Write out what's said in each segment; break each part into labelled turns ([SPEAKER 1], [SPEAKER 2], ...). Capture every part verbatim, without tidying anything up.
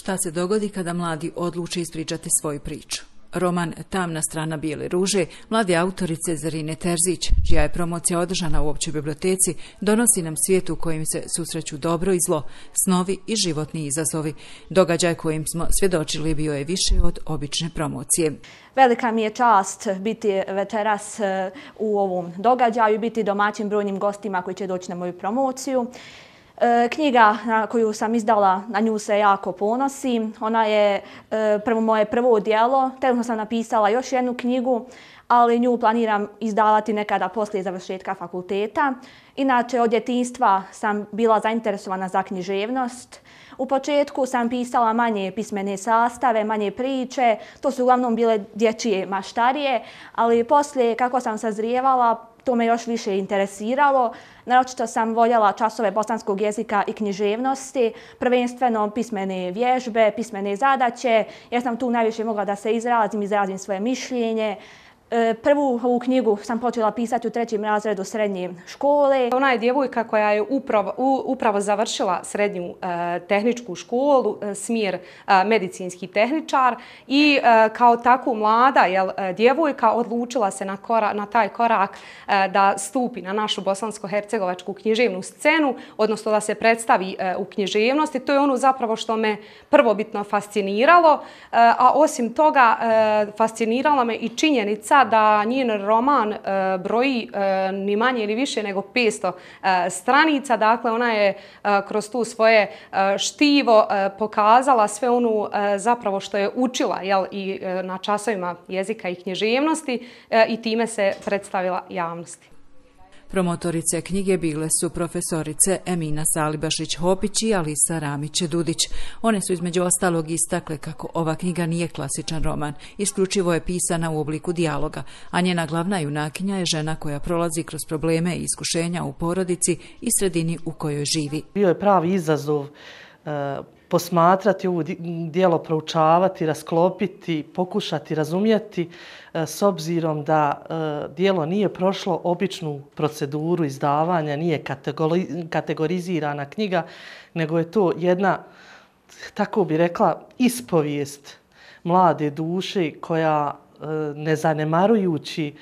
[SPEAKER 1] Šta se dogodi kada mladi odluče ispričati svoju priču? Roman Tamna strana bijele ruže mlade autorice Zarine Terzić, čija je promocija održana u općoj biblioteci, donosi nam svijet u kojem se susreću dobro i zlo, snovi i životni izazovi. Događaj kojim smo svjedočili bio je više od obične promocije.
[SPEAKER 2] Velika mi je čast biti večeras u ovom događaju i biti domaćim brojnim gostima koji će doći na moju promociju. Knjiga koju sam izdala, na nju se jako ponosim. Ona je prvo moje prvo djelo. Trenutno sam napisala još jednu knjigu, ali nju planiram izdavati nekada poslije završetka fakulteta. Inače, od djetinjstva sam bila zainteresovana za književnost. U početku sam pisala manje pismene sastave, manje priče. To su uglavnom bile dječje maštarije, ali poslije, kako sam sazrijevala, to me još više interesiralo. Naročito sam voljela časove bosanskog jezika i književnosti, prvenstveno pismene vježbe, pismene zadaće, jer sam tu najviše mogla da se izrazim, izrazim svoje mišljenje. Prvu ovu knjigu sam počela pisati u trećem razredu srednje škole.
[SPEAKER 3] Ona je djevojka koja je upravo, upravo završila srednju e, tehničku školu, e, smjer e, medicinski tehničar i e, kao takvu mlada jel, djevojka odlučila se na, kora, na taj korak e, da stupi na našu bosansko-hercegovačku književnu scenu, odnosno da se predstavi e, u književnosti. To je ono zapravo što me prvobitno fasciniralo, e, a osim toga e, fascinirala me i činjenica da njen roman e, broji e, ni manje ni više nego petsto e, stranica. Dakle, ona je e, kroz tu svoje e, štivo e, pokazala sve ono e, zapravo što je učila jel, i e, na časovima jezika i književnosti e, i time se predstavila javnosti.
[SPEAKER 1] Promotorice knjige bile su profesorice Emina Salibašić-Hopić i Alisa Ramić-Dudić. One su između ostalog istakle kako ova knjiga nije klasičan roman, isključivo je pisana u obliku dijaloga, a njena glavna junakinja je žena koja prolazi kroz probleme i iskušenja u porodici i sredini u kojoj živi.
[SPEAKER 4] Bio je pravi izazov e, posmatrati ovo djelo, proučavati, rasklopiti, pokušati razumjeti s obzirom da djelo nije prošlo običnu proceduru izdavanja, nije kategorizirana knjiga, nego je to jedna, tako bi rekla, ispovijest mlade duše koja, ne zanemarujući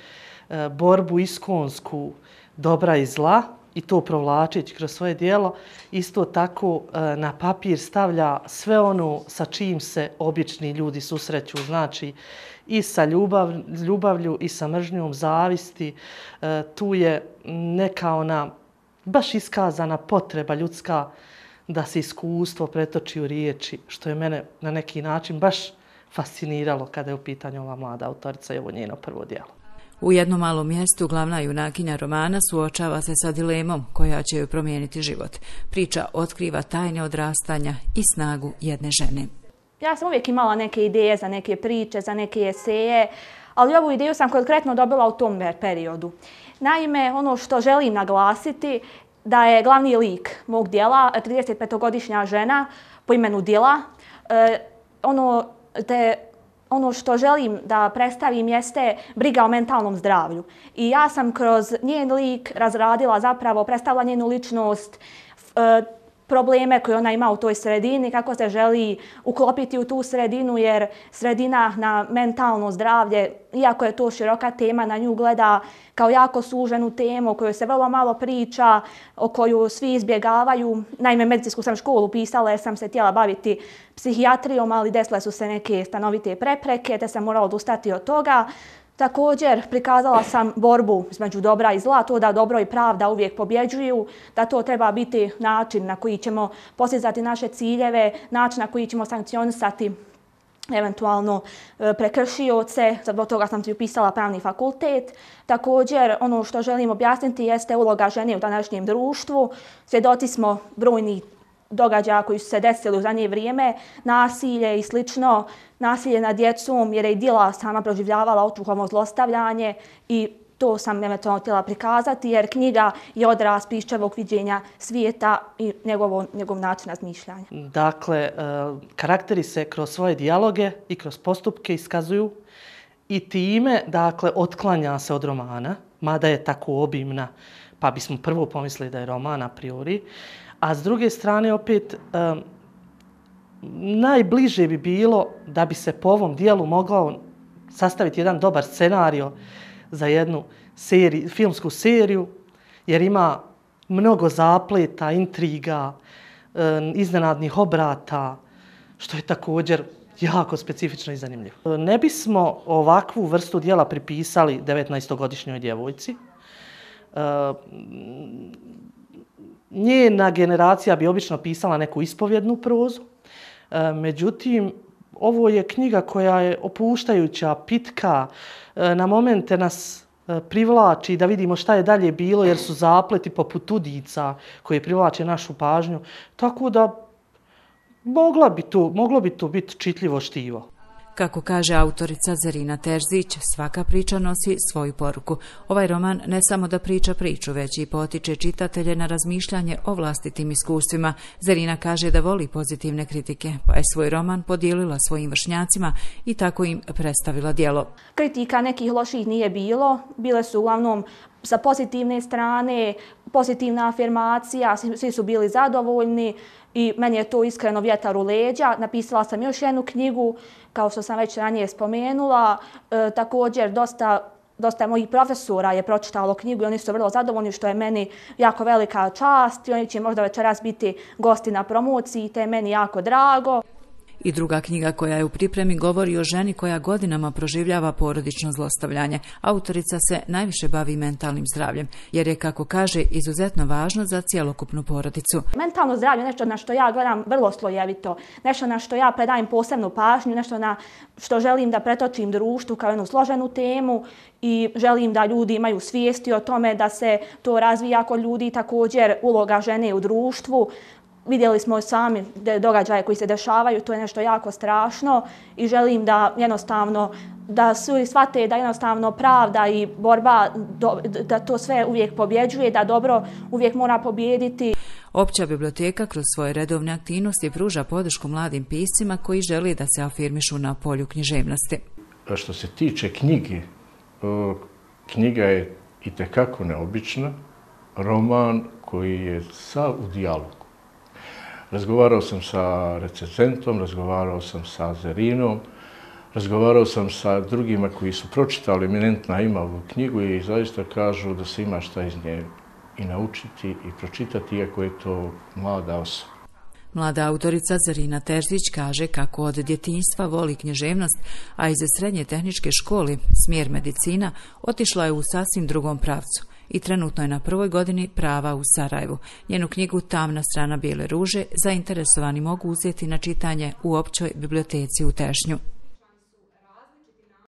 [SPEAKER 4] borbu iskonsku dobra i zla, i to provlačeći kroz svoje djelo, isto tako na papir stavlja sve ono sa čim se obični ljudi susreću, znači i sa ljubav, ljubavlju i sa mržnjom, zavisti. Tu je neka ona baš iskazana potreba ljudska da se iskustvo pretoči u riječi, što je mene na neki način baš fasciniralo kada je u pitanju ova mlada autorica i ovo njeno prvo djelo.
[SPEAKER 1] U jednom malom mjestu glavna junakinja romana suočava se sa dilemom koja će joj promijeniti život. Priča otkriva tajne odrastanja i snagu jedne žene.
[SPEAKER 2] Ja sam uvijek imala neke ideje za neke priče, za neke eseje, ali ovu ideju sam konkretno dobila u tom periodu. Naime, ono što želim naglasiti da je glavni lik mog djela tridesetpetogodišnja žena po imenu Dila. E, ono te Ono što želim da predstavim jeste briga o mentalnom zdravlju. I ja sam kroz njen lik razradila zapravo, predstavila njenu ličnost, probleme koje ona ima u toj sredini, kako se želi uklopiti u tu sredinu, jer sredina na mentalno zdravlje, iako je to široka tema, na nju gleda kao jako suženu temu o kojoj se vrlo malo priča, o koju svi izbjegavaju. Naime, medicinsku sam školu pisala jer sam se htjela baviti psihijatrijom, ali desile su se neke stanovite prepreke, te sam morala odustati od toga. Također prikazala sam borbu između dobra i zla, to da dobro i pravda uvijek pobjeđuju, da to treba biti način na koji ćemo postizati naše ciljeve, način na koji ćemo sankcionisati eventualno prekršioce. Zbog toga sam ti upisala pravni fakultet. Također, ono što želim objasniti jeste uloga žene u današnjem društvu. Svjedoci smo brojnih događaja koji su se desili u zadnje vrijeme, nasilje i slično, nasilje nad djecom, jer je i Dila sama proživljavala očuhovno zlostavljanje i to sam eventualno htjela prikazati, jer knjiga je odraz piščevog viđenja svijeta i njegovo, njegov način razmišljanja.
[SPEAKER 4] Dakle, karakteri se kroz svoje dijaloge i kroz postupke iskazuju i time, dakle, otklanja se od romana, mada je tako obimna, pa bismo prvo pomislili da je roman a priori. A s druge strane, opet, najbliže bi bilo da bi se po ovom dijelu mogao sastaviti jedan dobar scenario za jednu seriju, filmsku seriju, jer ima mnogo zapleta, intriga, iznenadnih obrata, što je također jako specifično i zanimljivo. Ne bismo ovakvu vrstu dijela pripisali devetnaestogodišnjoj djevojci. Njena generacija bi obično pisala neku ispovjednu prozu. Međutim, ovo je knjiga koja je opuštajuća, pitka, na momente nas privlači da vidimo šta je dalje bilo, jer su zapleti poput udica koje privlače našu pažnju. Tako da mogla bi to, moglo bi to biti čitljivo štivo.
[SPEAKER 1] Kako kaže autorica Zarina Terzić, svaka priča nosi svoju poruku. Ovaj roman ne samo da priča priču, već i potiče čitatelje na razmišljanje o vlastitim iskustvima. Zarina kaže da voli pozitivne kritike, pa je svoj roman podijelila svojim vršnjacima i tako im predstavila djelo.
[SPEAKER 2] Kritika nekih loših nije bilo, bile su uglavnom sa pozitivne strane, pozitivna afirmacija, svi su bili zadovoljni i meni je to iskreno vjetar u leđa. Napisala sam još jednu knjigu, kao što sam već ranije spomenula. E, također, dosta, dosta mojih profesora je pročitalo knjigu i oni su vrlo zadovoljni, što je meni jako velika čast i oni će možda večeras biti gosti na promociji, te je meni jako drago.
[SPEAKER 1] I druga knjiga koja je u pripremi govori o ženi koja godinama proživljava porodično zlostavljanje. Autorica se najviše bavi mentalnim zdravljem, jer je, kako kaže, izuzetno važno za cjelokupnu porodicu.
[SPEAKER 2] Mentalno zdravlje je nešto na što ja gledam vrlo slojevito, nešto na što ja predajem posebnu pažnju, nešto na što želim da pretočim društvu kao jednu složenu temu i želim da ljudi imaju svijesti o tome da se to razvija kod ljudi, također uloga žene u društvu. Vidjeli smo sami događaje koji se dešavaju, to je nešto jako strašno i želim da jednostavno, da svi shvate da jednostavno pravda i borba, da to sve uvijek pobjeđuje, da dobro uvijek mora pobijediti.
[SPEAKER 1] Opća biblioteka kroz svoje redovne aktivnosti pruža podršku mladim piscima koji žele da se afirmišu na polju književnosti.
[SPEAKER 5] Što se tiče knjige, knjiga je itekako neobična, roman koji je sav u dijalogu. Razgovarao sam sa recenzentom, razgovarao sam sa Zarinom, razgovarao sam sa drugima koji su pročitali eminentna ima ovu knjigu i zaista kažu da se ima šta iz nje i naučiti i pročitati, iako je to mlada osoba.
[SPEAKER 1] Mlada autorica Zarina Terzić kaže kako od djetinjstva voli književnost, a iz srednje tehničke škole, smjer medicina, otišla je u sasvim drugom pravcu i trenutno je na prvoj godini prava u Sarajevu. Njenu knjigu Tamna strana bijele ruže zainteresovani mogu uzeti na čitanje u općoj biblioteci u Tešnju.